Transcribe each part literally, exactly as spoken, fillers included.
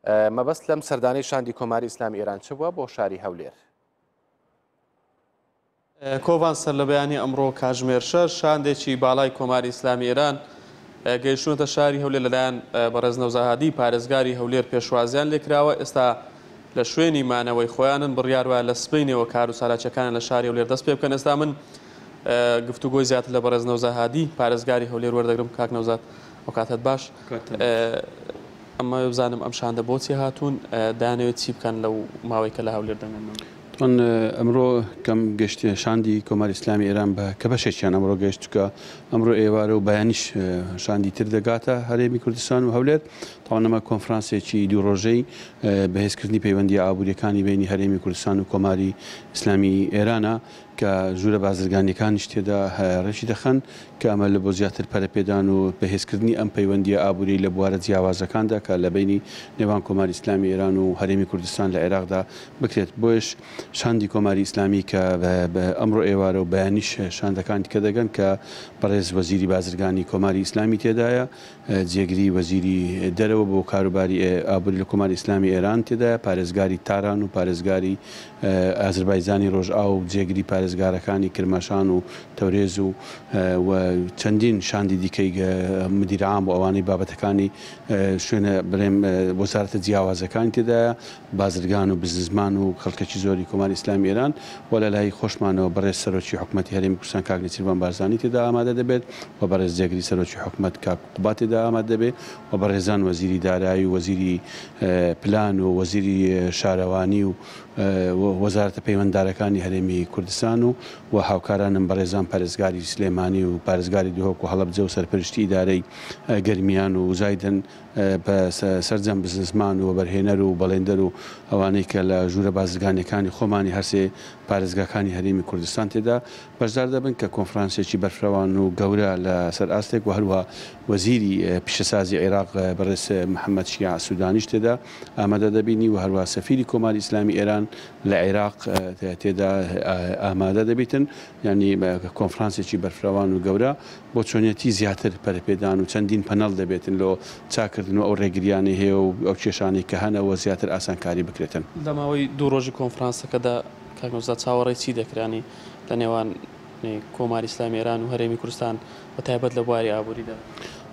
مەبەست لەم سەردانەی شاندی کۆماری ئیسلامی ئێران چ بووە بۆ شاری هەولێر؟ کۆڤان سەر لە بەیانی ئەمڕۆ کاتژمێر شەش شاندێکی باڵای کۆماری ئیسلامی ئێران گەیشتوونەتە شاری هەولێر لەلایەن بەڕێز نەوزاد هادی پارێزگاری هەولێر پێشوازیان لێکراوە. ئێستا لە شوێنی مانەوەی خۆیانن، بڕیار وایە لە سبەینەوە کار و چالاکیەکانیان لە شاری هەولێر دەست پێ بکەن. ئێستا من گفتوگۆی زیاتر لە بەڕێز نەوزاد هادی پارێزگاری هەولێر وەردەگرم. کاک نەوزاد، ئەو کاتت باش. ئەمە بزانم ئەم شاندە بۆچی هاتوون، دانەوێت چی بکەن لەو ماوەی کە لە هەولێر دەمێنن؟ طبعاً ئەمڕۆ کەم گەشتێ شاندی کۆماری ئیسلامی ئێران بە کە بەشێکیان ئەمڕۆ گەشتوکە ئەمڕۆ ئێوارە و بەیانیش شاندی تر دەگاتە هەرێمی کوردستان و هەولێر. طبعاً ئەمە کۆنفرانسێکی دوو ڕۆژەی بەهێزکردنی پەیوەندی ئابووریەکانی بینی هەرێمی کوردستان و کۆماری ئیسلامی ئێرانە کە ژوورە بازرگانیەکانیش تێدا ڕێکی دەخەن کە ئەمە لە بۆ زیاتر پەرەپێدان و بەهێزکردنی ئەم پەیوەندیە ئابووری لە بوارە جیاوازەکاندا کە لە بینی نێوان کۆماری ئیسلامی ئێران و هەرێمی کوردستان لە عێراقدا بکرێت. بۆیش شاندی کۆماری ئیسلامی کە ئەمڕۆ ئێوارە و بەیانیش شاندەکان دیکە دەگەن کە بەڕێز وەزیری بازرگانی کۆماری ئیسلامی تێدایە، جێگری وەزیری دەرەوە بۆ کاروباری ئابووری لە کۆماری ئیسلامی ئێران تێدایە، پارێزگاری تاران و پارێزگاری ئازربایجانی ڕۆژئاوا و جێگری پارێزگارەکانی کرماشان و تەورێز و چەندین شاندی دیکەی مدیر عام و ئەوانەی بابەتەکانی شوێنە بڵێم وەزارەتە جیاوازەکانی تێدایە، بازرگان و بزنسمان و خەڵکێکی زۆری کۆماری ئیسلامی ئێران و لە لای خۆشمانەوە بەڕێز سەرۆکی حکوومەتی هەرێمی کوردستان کاک نێچیرڤان بارزانی تێدا ئامادە دەبێت و بەڕێز جێگری سەرۆکی حکوومەت کاک قوباد تێدا ئامادە دەبێت و بەڕێزان وەزیری دارایی و وەزیری پلان و وەزیری شارەوانی و وەزارەتە پەیوەنددارەکانی هەرێمی کوردستان و و هاوکارانم بەڕێزان پارێزگاری سلێمانی و پارێزگاری دهۆک و هەڵەبجە و سەرپەرشتی ئیدارەی گەرمیان و زایدن بە سەرجەم بزنسمان و وەبەرهێنەر و بەڵێندەر و ئەوانەی کە لە ژوورە بازرگانیەکانی خۆمانی هەرسێ پارێزگاکانی هەرێمی کوردستان تێدا بەشدار دەبن کە کۆنفرانسێکی بەرفرەوان و گەورە لە سەر ئاستێک و هەروەها وەزیری پیشەسازی عێراق بەڕێز محەممەد شیاع سوودانیش تێدا ئامادە دەبینی و هەروەها سەفیری کۆماری ئیسلامی ئێران لە عێراق تێدا ئامادە دەبیتن. یعنی کۆنفرانسێکی بەرفرەوان و گەورە بۆ چۆنیەتی زیاتر پەرەپێدان و چەندین پەنەڵ دەبێتن لۆ چاکردن و ئەو ڕێگریانەی هەیە و ئەو کێشانەی کە هەنەوە زیاتر ئاسانکاری بکرێتن. لە ماوەی دوو ڕۆژی کۆنفرانسەکەدا کاک نەوزاد چاوەڕێی چی دەکرانی لە نێوان کۆماری ئیسلامی ئێران و هەرێمی کوردستان بە تایبەت لە بواری ئابووریدا؟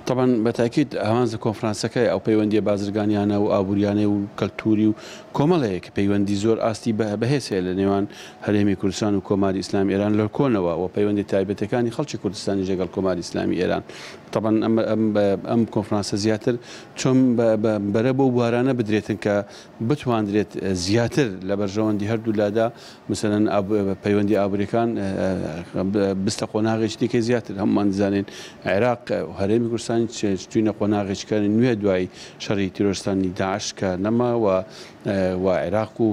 طبعا بەتاکید ئامانج لە کۆنفرانسەکەی ئەو پەیوەندیە بازرگانیانە و ئابووریانەی و کەلتوری و کۆمەڵەیە کە پەیوەندی زۆر ئاستی بەهێز هەیە لە نێوان هەرێمی کوردستان و کۆماری ئیسلامی ئێران لە کۆنەوە و پەیوەندی تایبەتەکانی خەڵکی کوردستانی لەگەڵ کۆماری ئیسلامی ئێران. طبعا ئەم کۆنفرانسە زیاتر چۆن بەرە بۆ بوارانە بدرێتن کە بتواندرێت زیاتر لە بەرژەوەندی هەردوو لادا مثلا پەیوەندی ئابووریەکان بستە قۆناغێکی دیکەی زیاتر. هەمومان دەزانین عێراق و هەرێمی کوردستان چوینە قۆناغێکە نوێ دوای شەڕی تیرۆرستانی داعش کە نەما و و عێراق و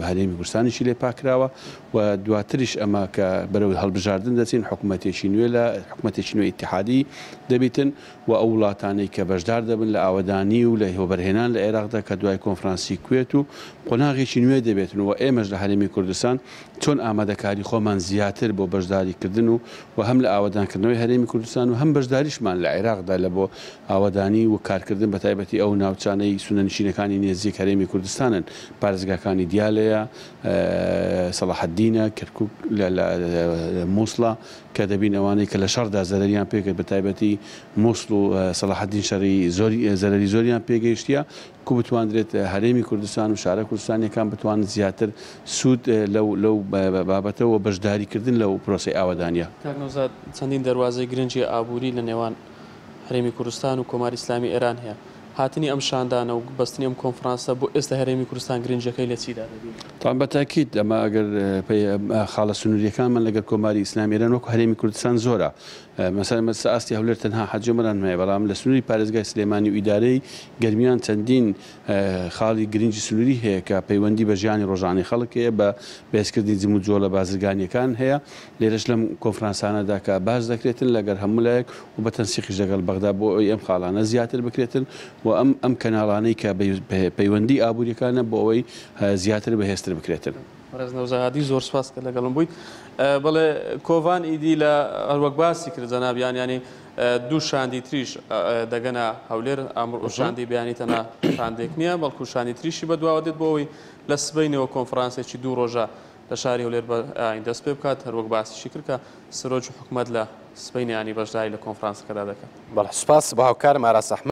هەرێمی کوردستانیشی لێ پاکراوە و دواتریش ئەمە کە بەرەو هەڵبژاردن دەچین حکوومەتێکی نوێ لە حکوومەتێکی نوێ ئیتیحادی دەبیتن و ئەو وڵاتانەی کە بەشدار دەبن لە ئاوەدانی و لە هۆبەرهێنان لە عێراقدا کە دوای کۆنفرانسی کوێت و قۆناغێکی نوێ دەبێتن و ئێمەش لە هەرێمی کوردستان چۆن ئامادەکاری خۆمان زیاتر بۆ بەشداریکردن و و هەم لە ئاوەدانکردنەوەی هەرێمی کوردستان و هەم بەشداریشمان لە عێراقدا لە بۆ ئاوەدانی و کارکردن بە تایبەتی ئەو ناوچانەی سوننەنشینەکانی نێزیک هەرێمی کوردستانن، پارێزگاکانی دیالەیە، سەڵاحەدینە، کەرکوک، لە مووسڵە کە دەبین ئەوانەی کە لە شەڕدا زەرەریان پێکرد بە تایبەتی مووسڵ و سەڵاحەدین شەڕی زەرەری زۆریان پێگەیشتیە کو بتواندرێت هەرێمی کوردستان و شارە کوردستانیەکان بتوانن زیاتر سوود لەو بابەتەوە بەشداریکردن لەو پرۆسەی ئاوەدانیە. کاک نەوزاد، چەندین دەروازەی گرنگی ئابووری لە نێوان هەرێمی کوردستان و کۆماری ئیسلامی ئێران هەیە. هاتنی ئەم شاندانە و بەستنی ئەم کۆنفرانسە بۆ ئێستا هەرێمی کوردستان گرنگیەکەی لە چیدا دەبینی؟ طبعا بەتاکید ئەمە ئەگەر خاڵە سنووریەکانمان لەگەڵ کۆماری ئیسلامی ئێران وەکو هەرێمی کوردستان زۆرە. مثلا مەسە ئاستی هەولێر تەنها حەجی عومەران هەیە، بەڵام لە سنووری پارێزگای سلێمانی و ئیدارەی گەرمیان چەندین خاڵی گرنگی سنووری هەیە کە پەیوەندی بە ژیانی ڕۆژانەی خەڵک هەیە، بە بەهێزکردنی جموجۆڵە بازرگانیەکان هەیە. لێرەش لەم کۆنفرانسانەدا کە باس دەکرێتن لەگەڵ هەموو لایەک و بە تەنسیقیش لەگەڵ بەغدا بۆ ئەوەی ئەم خاڵانە زیاتر بکرێتن و ئەم ئەم کەناڵانەی کە پەیوەندی ئابووریەکانە بۆ ئەوەی زیاتر بەهێزتر بکرێتن. بەڕێز نەوزاد هادی، زۆر سوپاس کە لەگەڵم بوویت. بەڵێ کۆڤان ئیدی لە هەروەک باسی کرد جەنابیان، ینی دوو شاندی تریش دەگەنە هەولێر. ئەمڕۆ شاندی بەیانی تەنها شاندێک نییە، بەڵکو شاندی تریشی بەدواوە دێت بۆ ئەوەی لە سبەینەوە کۆنفرانسێکی دوو ڕۆژە لە شاری هەولێر دەست پێ بکات. هەروەک باسیشی کرد کە سەرۆکی حکوومەت لە سبەینیانی بەشداری لە کۆنفرانسەکەدا دەکات. بەڵێ، سوپاس بۆ هاوکارم ئاراس ئەحمەد.